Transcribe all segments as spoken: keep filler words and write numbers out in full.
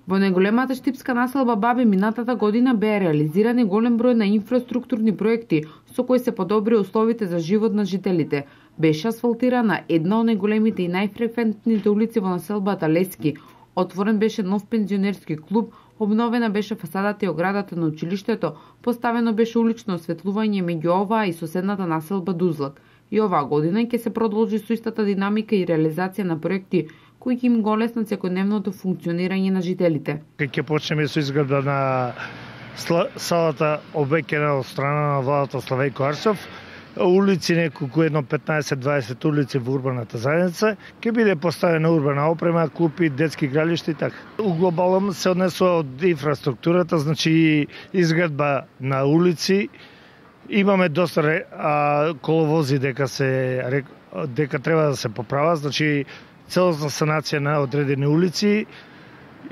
Во најголемата штипска населба Баби минатата година беа реализирани голем број на инфраструктурни проекти со кои се подобри условите за живот на жителите. Беше асфалтирана една од најголемите и најфреквентните улици во населбата Лески. Отворен беше нов пензионерски клуб, обновена беше фасадата и оградата на училиштето, поставено беше улично осветлување меѓу оваа и соседната населба Дузлак. И оваа година ќе се продолжи со истата динамика и реализација на проекти кои ќе им го олеснат секојдневното функционирање на жителите. Ќе почнеме со изградба на салата обеќена од страна на владата Славејко Арсов, улици неколку едно петнаесет до дваесет улици во урбаната заедница, ќе биде поставена урбана опрема, клупи, детски игралишта и така. У глобалом се однесува од инфраструктурата, значи изградба на улици. Имаме доста а, коловози дека се дека треба да се поправа, значи целосна санација на одредени улици,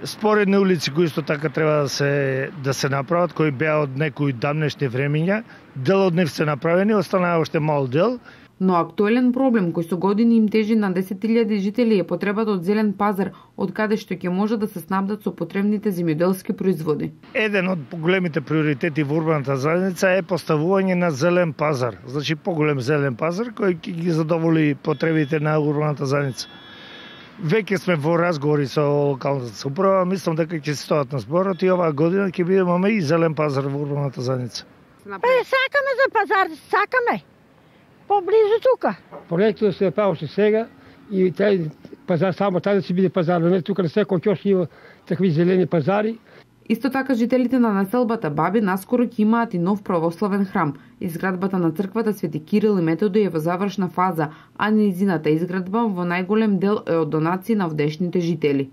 споредни улици кои исто така треба да се да се направат, кои беа од некои давнешни времиња, дел од нив се направени, останаа уште мал дел. Но актуелен проблем кој со години им тежи на десет илјади жители е потребата од зелен пазар, од каде што ќе може да се снабдат со потребните земјоделски производи. Еден од поголемите приоритети во урбаната заедница е поставување на зелен пазар, значи поголем зелен пазар кој ќе ги задоволи потребите на урбаната заедница. Веќе сме во разговори со локалната самоуправа, мислам дека ќе се стојат на зборот и оваа година ќе бидеме и зелен пазар во урбаната заедница. Е, сакаме за пазар, сакаме. Поблизу тука. Проектот се прави уште сега и тај пазар само тај да си биде пазар, не тука на секој ќош има такви зелени пазари. Исто така жителите на населбата Баби наскоро ќе имаат и нов православен храм. Изградбата на црквата Свети Кирил и Методи е во завршна фаза, а нејзината изградба во најголем дел е од донации на овдешните жители.